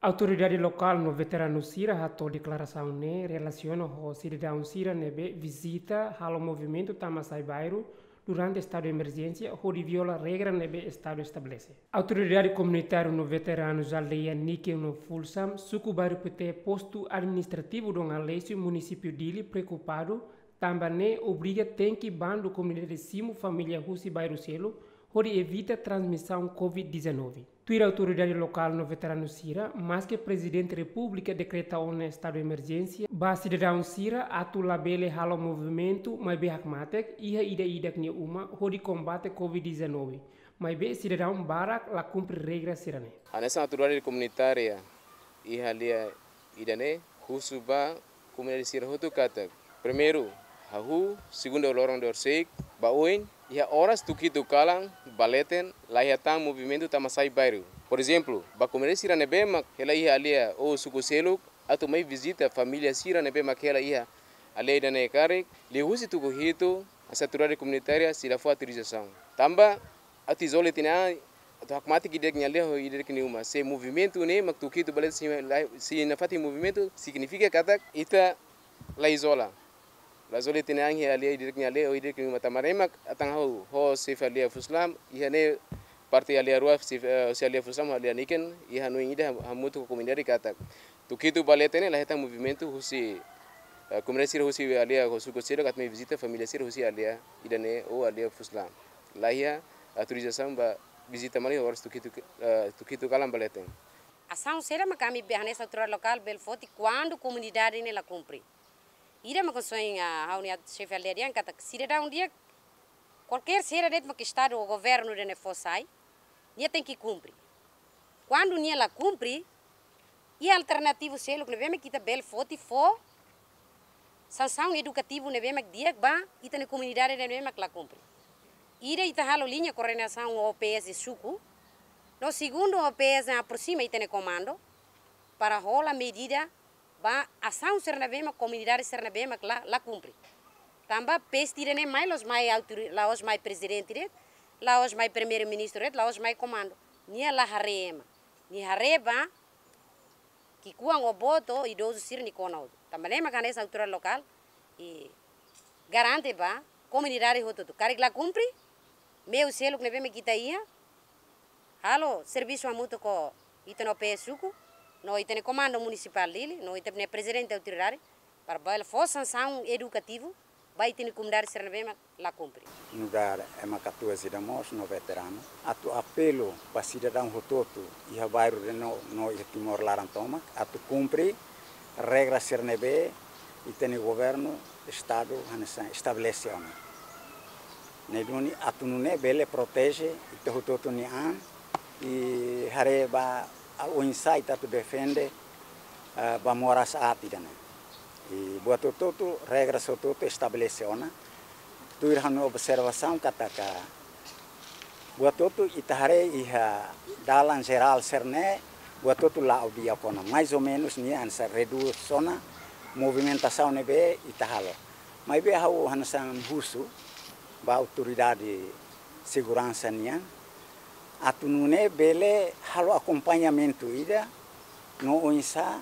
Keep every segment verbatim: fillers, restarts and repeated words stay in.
Autoridade lokál no veteranu sira hato'o deklarasaun ne'e relasiona ho sidadaun sira ne'ebé vizita halo movimentu tama sai bairru durante estadu emerjénsia hodi viola regra ne'ebé estadu estabelese. Autoridade komunitáriu no veteranu aldeia Niken no Fulsam, suku Bairru Pete, postu administrativu Dom Aleixo, munisípiu Dili, preokupadu tanba ne'e obriga tenke bandu komunidade simu família husi bairru seluk hodi evita transmisaun covid dezanove. Tuir autoridade lokál no veteranu sira, maske Prezidente Repúblika dekreta ona estadu emerjénsia ba sidadaun sira atu labele halo movimentu, maibé hakmatek iha ida-idak nia uma hodi kombate covid dezanove. Maibé sidadaun barak la kumpre regra sira-ne'e. Hanesan autoridade komunitária iha aldeia ida-ne'e husu ba komunidade sira hotu katak, primeiru, hahú, segundu, loron dorsik, ba oin, iha oras tuku hitu kalan ba leten, la iha tan movimentu tama sai bairru. Por ezemplu, ba komunidade sira ne'ebé mak hela iha aldeia ou suku seluk atu mai vizita família sira ne'ebé mak hela iha aldeia ida-ne'e karik, liuhusi tuku hitu, hanesan autoridade komunitária sei la fó autorizasaun. Tanba atu izola ita-nia an, atu hakmatek ida-idak nia aldeia ho ida-idak nia uma. Se movimentu ne'e mak tuku hitu ba leten sei la, sei nafatin movimentu, signifika katak ita la izola. La izola ita-nia an iha aldeia ida-idak nia aldeia ho ida-idak nia uma. Tanba ne'e mak atan ha'u ho xefe aldeia Fusulam, iha ne'e parte aldeia rua, xefe, eh, xefe aldeia Fusulam, aldeia Niken, iha hanoin ida ham-, hamutuk ho komunidade katak tuku hitu ba leten ne'e la hetan movimentu husi, eh, komunidade sira husi aldeia ho suku seluk atu mai vizita família sira husi aldeia ida-ne'e ou aldeia Fusulam. La iha autorizasaun ba vizita mai iha oras tuku hitu, eh, tuku hitu kalan ba leten. Asaun saida mak ami be hanesan autoridade lokál bele foti kuandu komunidade ne'e la kumpre? Ida mak konsoin, ah, ha'u-nia xefe aldeia dehan katak sidadaun di'ak, kualkér saida de'it mak estadu ou governu ida-ne'e fó sai, nia tenke kumpre. Kuandu nia la kumpre, iha alternativu seluk ne'ebé mak ita bele foti fó sansaun edukativu ne'ebé mak di'ak ba ita-nia komunidade ne'ebé mak la kumpre. Ida, ita halo liña koordenasaun ho O P S suku. No segundu, O P S aproxima ita-nia komandu para hola medida ba asaun sira ne'ebé mak komunidade sira ne'ebé mak la, la kumpre. Tanba peste ida-ne'e mai la'ós mai autori-, la'ós mai prezidente de'it, la'ós mai primeiru-ministru de'it, la'ós mai komandu. Nia la haree ema. Nia haree ba ki'ikoan ou boot idozu sira-nia kona hotu. Tanba ne'e mak hanesan autoridade lokál, i garante ba komunidade hotu-hotu. Karik la kumpre, meiu seluk ne'ebé mak ita iha, halo servisu hamutuk ho ita-nia O P S suku, no ita-nia komandu munisipál Dili, no ita-nia prezidente autoridade, para bele fó sansaun edukativu ba ita-nia komunidade sira ne'ebé mak la kumpre. Nu'udar ema katuas ida mós no veteranu, atu apelu ba sidadaun hotu-hotu iha bairru ida-ne'e no, no iha Timor laran tomak, atu kumpre regra sira ne'ebé ita-nia governu, estadu, hanesan estabelese ona. Ne'e duni atu nune'e bele proteje ita hotu-hotu nia an, i haree ba oinsá ita atu defende, eh, ba moras aat ida-ne'e. I buat hotu-hotu, regra hotu-hotu estabelese ona. Tuir ha'u-nia observasaun katak buat hotu ita haree iha dalan jerál sira-ne'e, buat hotu la'o di'ak ona. Mais ou menus nia hanesan redús ona movimentasaun ne'ebé ita halo. Maibé ha'u hanesan husu ba autoridade seguransa nian, atu nune'e bele halo akompañamentu ida, no oinsá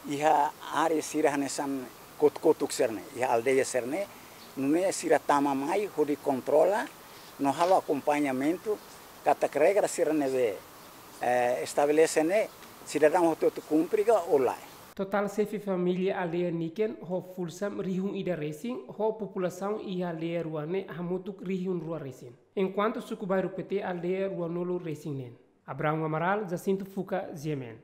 iha área sira hanesan kotuk-kotuk sira-ne'e, iha aldeia sira-ne'e, nune'e sira tama mai hodi kontrola, no halo akompañamentu, katak regra sira ne'ebé, eh, estabelese ne'e, sidadaun hotu-hotu kumpre ka ou lae. Totál xefe família aldeia Niken ho Fulsam rihun ida resin, ho populasaun iha aldeia rua ne'e hamutuk rihun rua resin. Enkuantu suku Bairru Pete aldeia ruanulu resin neen. Abraão Amaral, Jacinto Fuca, G M N.